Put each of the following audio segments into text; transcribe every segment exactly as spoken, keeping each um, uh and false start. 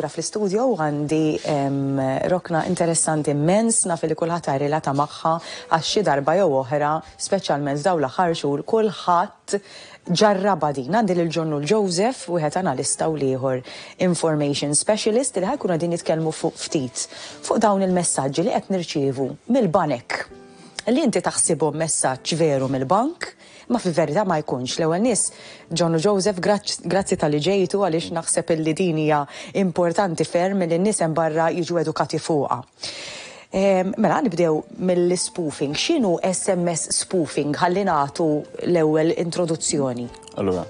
Lura fl-istudio għandi rokna interessanti immens, naf li kulħadd relata magħha għax xi darba jew oħra, speċjalment f'dawn l-aħħar xhur, kulħadd ġarrabha din. Għandi lil John u Joseph, wieħed analista u l-ieħor information specialist, li ħa jkunu qegħdin jitkellmu fuq ftit fuq dawn il-messaġġi li qed nirċievu mill-banek, li inti taħsibhom messaġġ veru mill-bank, ma fil-verità ma jkunx. L-ewwel nies, John u Joseph, grazzi talli ġejtu, għaliex naħseb illi din hija importanti ferm li n-nies hemm barra jiġu edukati fuqha. Mela, nibdew mill-spoofing. X'inhu S M S spoofing? Ħalli nagħtu l-ewwel introduzzjoni. Allura,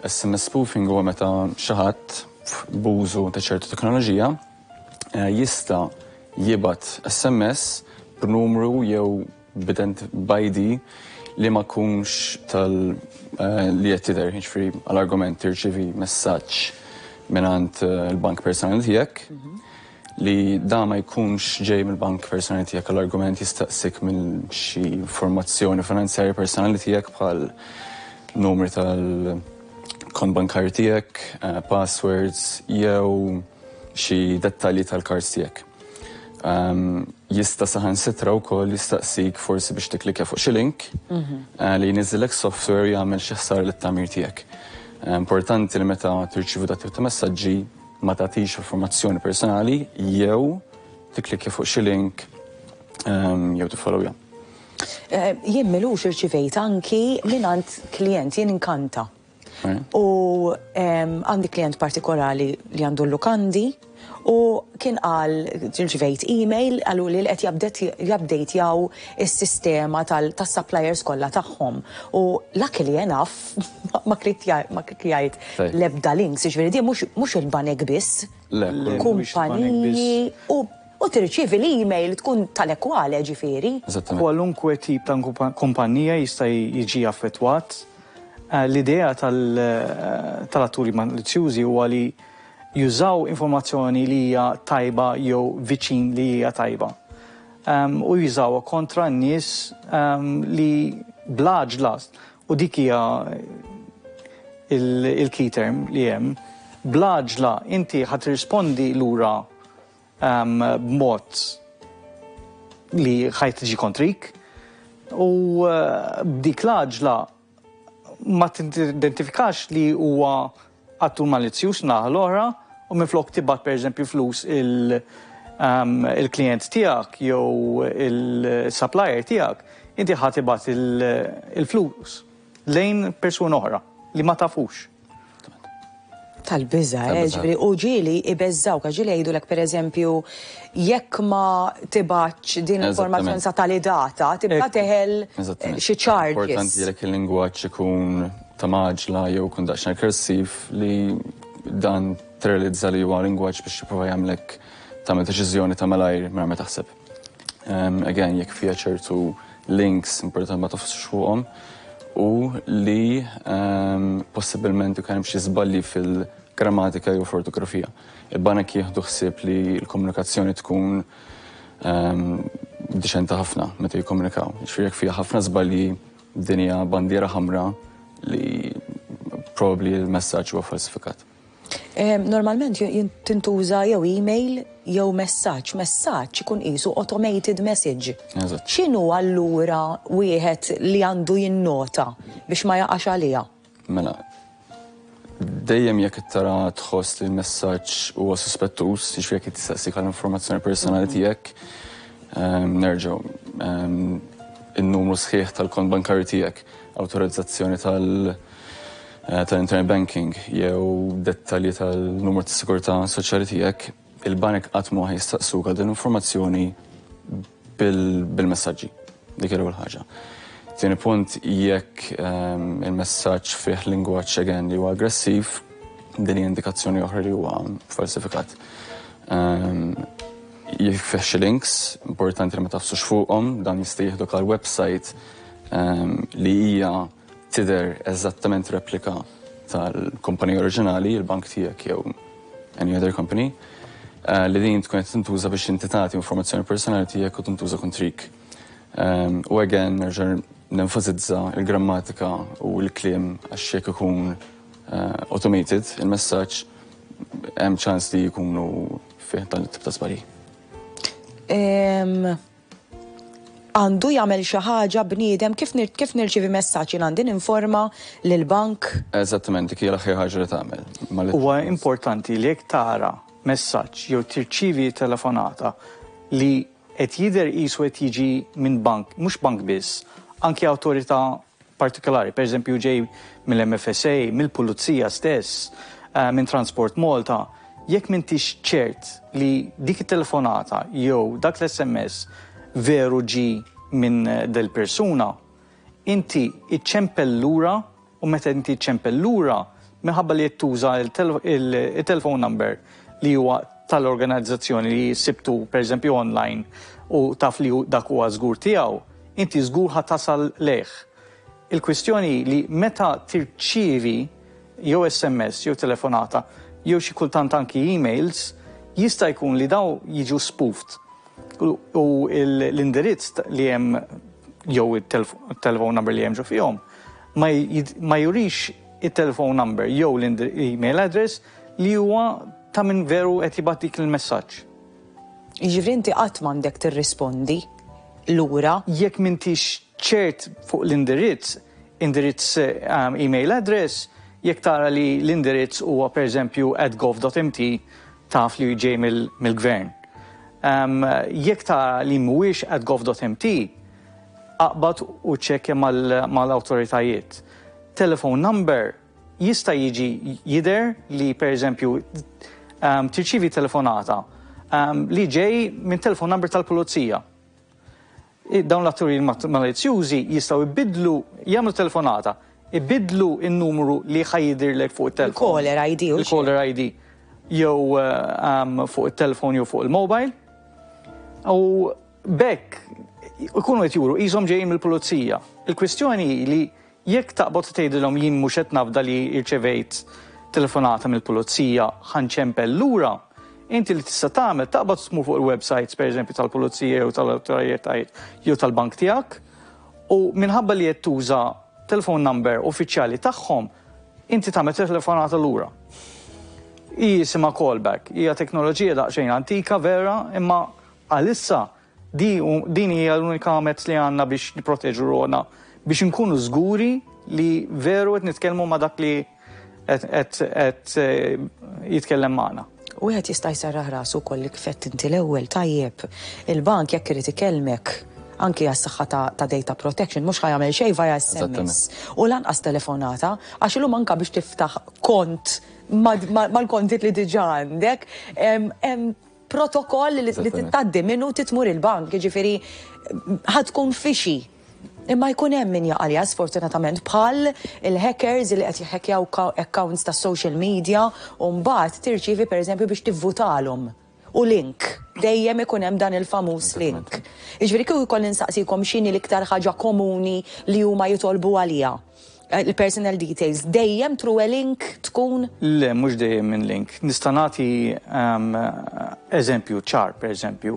S M S spoofing huwa meta xi ħadd b'użu ta' ċertu teknoloġija eh, jista' jibgħat S M S b'numru jew b'I D li ma jkunx tal eh, li qed tidher, jiġifieri għall-argument tirċivi messaġġ mingħand eh, il-bank personali tiegħek li da ma jkunx ġej mill-bank personali tiegħek, għall-argument jistaqsik minn xi informazzjoni finanzjarja personali tiegħek bħal numri tal-kont bankarju tiegħek, eh, passwords jew xi dettalji tal-cards tiegħek. Um, jista' saħansitra wkoll jistaqsik forsi biex tiklikja fuq xi link mm -hmm. uh, li jniżżilek software, jagħmel xi ħsara lit-tagħmir tiegħek. Uh, importanti li meta tirċievu dat ta' messaġġi ma tagħtix informazzjoni personali jew tiklikja fuq xi link um, jew tiffollowja. Uh, jien m'ilux irċivejt anki mingħand klient, jien inkanta. U għandi klient partikolari li għandu l-lukandi u kien qal, ġivejt email, qalu li qed jabdejtjaw is-sistema tas-suppliers kollha tagħhom. U luckily enough ma klikjajt l-ebda links, ġifieri di mhux il-banek biss, kumpaniji u u tirċievi l-email tkun tal-ekwale ġifieri. Kwalunkwe tip ta' kumpanija jista' jiġi affettwat. Eh, l-idea eh, tal-atturi malizzjużi huwa li jużaw informazzjoni li hija tajba jew viċin li hija tajba. Um, u jużaw kontra n-nies um, li bl-għaġla, u dik hija il-key term li hemm, bl-għaġla inti ħa tirrispondi lura um, b'mod li ħa tiġi kontrik u uh, b'dik l-għaġla ma tidentifikax li huwa attur malizzjuż naħa l-oħra u minflok tibgħat, per eżempju, flus il- um, il-klient tiegħek jew il-supplier tiegħek, inti ħa tibgħat il-flus lejn persuna oħra li ma tafux. Tal-biża, eh, ġifieri, u ġieli ibeżżaw, ġieli jgħidulek, per eżempju, jekk ma tibgħatx din l-informazzjoni sa tali data, tibqa teħel xi charges. Importanti jekk il-lingwaġġ ikun ta' għaġla jew kun daqsxejn aggressiv, li dan tirrealizza li huwa lingwaġġ biex jipprova jagħmlek tagħmel deċiżjoni ta' malajr mingħajr ma taħseb. Um, again, jekk fiha ċertu links, importanti ma tagħfasux fuqhom u li um, possibilment ikun hemm xi żbalji fil-grammatika jew f'ortografija. Il-banek jieħdu ħsieb li l-komunikazzjoni tkun um, diċenta ħafna meta jikkomunikaw. Ġifieri jekk fiha ħafna żbalji, din hija bandiera ħamra li probably il-messaġġ huwa falsifikat. Normalment tintuża jew email jew messaġġ. Messaġġ ikun qisu automated message. Eżatt. X'inhu allura wieħed li għandu jinnota biex ma jaqax għaliha? Mela, dejjem jekk tara, tħoss li l-messaġġ huwa suspettuż, jiġifieri jekk tistaqsik għal informazzjoni personali tiegħek, ehm, nerġgħu ehm, in-numru sħiħ tal-kont bankarju tiegħek, awtorizzazzjoni tal- eh, tal-internet banking jew dettalji tal-numru tas sigurtà soċjali tiegħek, il-banek qatt ma jistaqsuk għal din l-informazzjoni bil-messaġġi. Dik l-ewwel ħaġa. Tieni punt, jekk ehm, il-messaġġ fih lingwaġġ again li huwa aggressiv, din hija indikazzjoni oħra li huwa falsifikat. Ehm, jekk fih xi links, importanti li ma tagħfsux fuqhom, dan jista' jieħdok għal website ehm, li hija tidher eżattament replika tal-kumpanija oriġinali, il-bank tiegħek jew any other company, eh, li din tkun qed tintuża biex inti tagħti informazzjoni personali tiegħek u tintuża kontrik. Um, u again, nerġa' nenfasizza il-grammatika u l-kliem, għax jekk ikun uh, automated, il-messaġġ hemm ċans li jkunu fih dan it-tip ta' żbalji. Em, Għandu jagħmel xi ħaġa bniedem kif nir, kif nirċievi messaġġ jien għandi ninforma lill-bank? Eżattament, dik hija l-aħjar ħaġa li tagħmel. Ma li- Huwa importanti li jekk tara messaġġ jew tirċivi telefonata li qed jidher qisu qed jiġi minn bank, mhux bank biss, anki awtorità partikolari, per eżempju ġej mill-M F S A, mill-Pulizija stess, eh, minn Transport Malta, jekk m'intix ċert li dik it-telefonata jew dak l-S M S veru ġi minn eh, del persuna, inti iċċempel lura u meta inti iċċempel lura, minħabba li tuża il-telephone number li huwa tal-organizzazzjoni li sibtu per eżempju online u taf li dak huwa żgur tiegħu, inti żgur ħa tasal lejh. Il-kwistjoni li meta tirċievi jew S M S jew telefonata jew xi kultant anki emails, jista' jkun li daw jiġu spoofed. U u l-indirizz li hemm jew il-telephone number li hemm ġo fihom ma jid- ma jurix il-telephone number jew l-email address li huwa ta' min veru qed jibgħat dik il-messaġġ. Jiġifieri inti qatt m'għandek tirrispondi lura. Jekk m'intix ċert fuq l-indirizz, indirizz um, email address, jekk tara li l-indirizz huwa per eżempju at gov dot M T, taf li ġej mill-gvern. Um, jekk tara li mhuwiex at gov dot M T, aqbad u ċekkja mal-awtoritajiet. Telephone number jista' jiġi jidher li per eżempju um, tirċivi telefonata um, li ġej minn telephone number tal-pulizija. Dawn l-atturi malizzjużi jistgħu jbidlu, jagħmlu telefonata, ibidlu il-numru li ħa jidhirlek fuq il-telefon. Il-caller I D. Il-caller I D. Jew um, fuq il-telefon jew fuq il-mobile. U b'hekk ikunu qed juru qishom ġejjin mill-pulizija. Il-kwistjoni li jekk taqbad tgħidilhom jien mhux qed nafda li rċevejt telefonata mill-pulizija, ħa nċempel lura, inti li tista' tagħmel taqbad tmur fuq il-websites pereżempju tal-pulizija jew tal-awtoritajiet jew tal-bank tiegħek u minħabba li qed tuża telephone number uffiċjali tagħhom, inti tagħmel telefonata lura. Jisimha callback, hija teknoloġija daqsxejn antika vera, imma għalissa di, din hija l-unika mezz li għandna biex niproteġu ruħna, biex nkunu żguri li veru qed nitkellmu ma' dak li qed eh, jitkellem magħna. U għed jista' jserraħ rasu kolli kfett inti l-ewwel tajjeb. Il-bank jekk irid ikellmek anki għas-saħħa ta', ta data protection, mhux ħa jagħmel xejn via S M S. U lanqas telefonata, għax illum anka biex tiftaħ kont mal-kontit li diġà għandek, hemm protokoll li tgħaddi minnu tmur il-bank, jiġifieri ħa tkun fishy. Imma jkun hemm min jaqalja sfortunatament, bħal il-hackers li qed jħekkjaw accounts ta' social media u mbagħad tirċievi pereżempju biex tivvutalhom. U link, dejjem ikun hemm dan il-famuż link. Jiġifieri kieku jkolli nsaqsikom x'inhi l-iktar ħaġa komuni li huma jitolbu għalija, il-personal details, dejjem through a link tkun? Le, mhux dejjem minn link. Nista' nagħti um, eżempju ċar, per eżempju.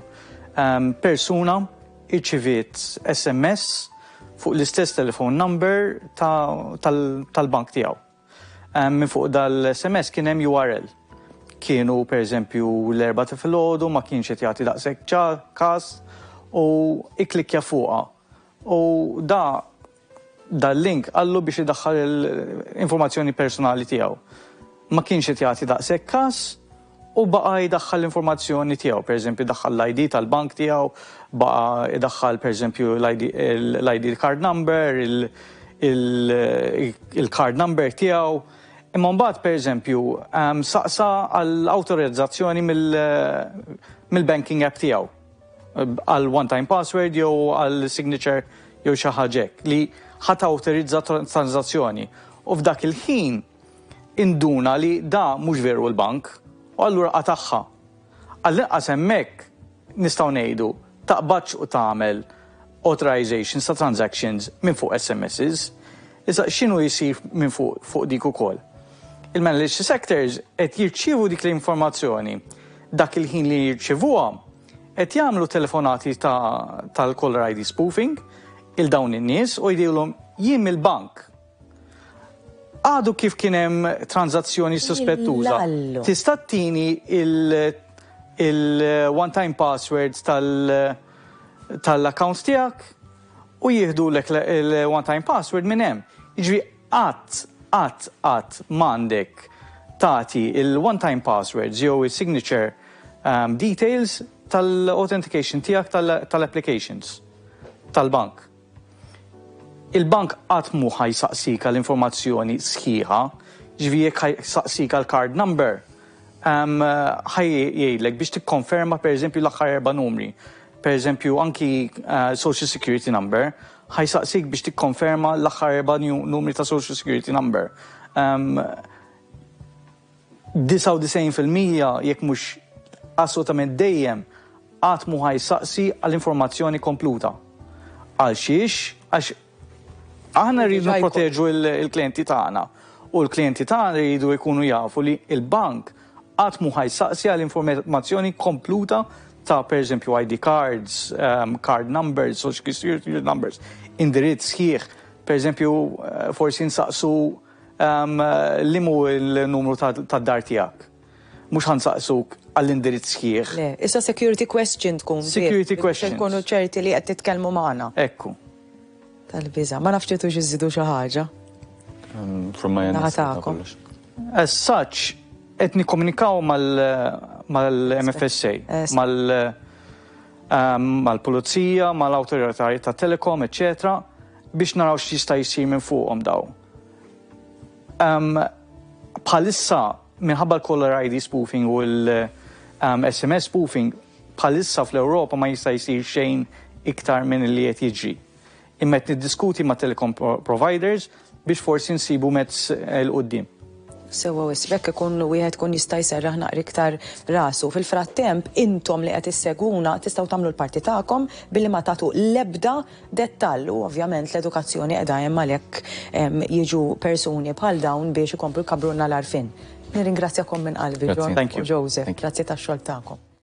Um, persuna irċiviet S M S fuq l-istess telephone number tal-bank tiegħu. Um, minn fuq dal-S M S kien hemm U R L. Kienu per eżempju l-erbgħa ta' filgħodu, ma kienx qed jagħti daqshekk każ u ikklikkja fuqha. U da dal-link qallu biex idaħħal l-informazzjoni personali tiegħu. Ma kienx qed jagħti daqshekk każ u baqa' jdaħħal l-informazzjoni tiegħu, per eżempju daħħal l-I D tal-bank tiegħu, baqa' jdaħħal per eżempju l-I D card number, il-card number tiegħu. Imma mbagħad per eżempju saqsa għall-awtorizzazzjoni mill-banking app tiegħu għal one-time password jew għal signature jew xi ħaġa li ħa tawtorizza transazzjoni. U f'dak il-ħin induna li da mhux veru l-bank u allura qatagħha. Għall-inqas hemmhekk nistgħu ngħidu taqbadx u tagħmel authorizations ta' transactions minn fuq S M Ss. Issa x'inhu jsir minn fuq fuq dik ukoll? Il-malicious actors qed jirċievu dik l-informazzjoni, dak il-ħin li jirċievuha qed jagħmlu telefonati tal-caller I D spoofing lil dawn in-nies u jgħidulhom jien mill-bank. Għadu kif kien hemm tranżazzjoni suspettuża. Illallu. Tista' tini il-one-time password tal- tal-account tiegħek u jieħdu lek il-one-time password minn hemm. Jiġifieri qatt, qatt, qatt m'għandek tagħti il-one-time passwords jew il-signature um, details tal-authentication tiegħek tal-applications tal-bank. Il-bank qatt mhu ħa jsaqsik l-informazzjoni sħiħa, ġifieri jekk ħa jsaqsik għal card number, um, ħa jgħidlek biex tikkonferma, per eżempju, l-aħħar erba' numri. Per eżempju, anki uh, Social Security number, ħa jsaqsik biex tikkonferma l-aħħar erba' numri ta' Social Security number. Um, disgħa u disgħin fil-mija, jekk mhux assolutament dejjem, qatt mhu ħa jsaqsi għall-informazzjoni kompluta. Għal xiex? Għax aħna rridu proteġu il-klienti tagħna u l-klienti tagħna rridu jkunu jafu li il-bank qatt mhu ħa jsaqsi għall-informazzjoni kompluta ta', per eżempju, I D cards, um, card numbers, social security numbers, indirizz sħiħ. Per eżempju, eh, forsi nsaqsu um, liema hu il-numru tad-dar tiegħek. Mhux ħa nsaqsuk għall-indirizz sħiħ. Le, issa security question tkun. Security question. Tkunu ċerti li qed titkellmu magħna. Ekku. Tal-biża. Ma nafx tridux iżidu xi ħaġa. Um, from my end. Naħa tagħkom. As such, qed nikkomunikaw mal-M F S A, mal- um, mal-pulizija, mal-awtoritajiet ta' telekom, eccetera, biex naraw x'jista' jsir minn fuqhom daw. Um, bħalissa, minħabba l-caller I D spoofing u l-S M S spoofing, bħalissa fl-Ewropa ma jista' jsir xejn iktar minn li qed jiġri. Imma qed niddiskuti ma' telecom providers biex forsi nsibu mezz 'il quddiem. Sewwa wisq, ikun wieħed kun jista' jserraħ naqra iktar rasu. Fil-frattemp, intom li qed issegwuna tistgħu tagħmlu l-parti tagħkom billi ma tagħtu l-ebda dettall u ovvjament l-edukazzjoni qiegħda hemm, għalhekk jiġu persuni bħal dawn biex ikomplu jkabbrulna l-għarfien. Nirringrazzjakom minn qalbi, John u Joseph. Grazzi tax-xogħol tagħkom.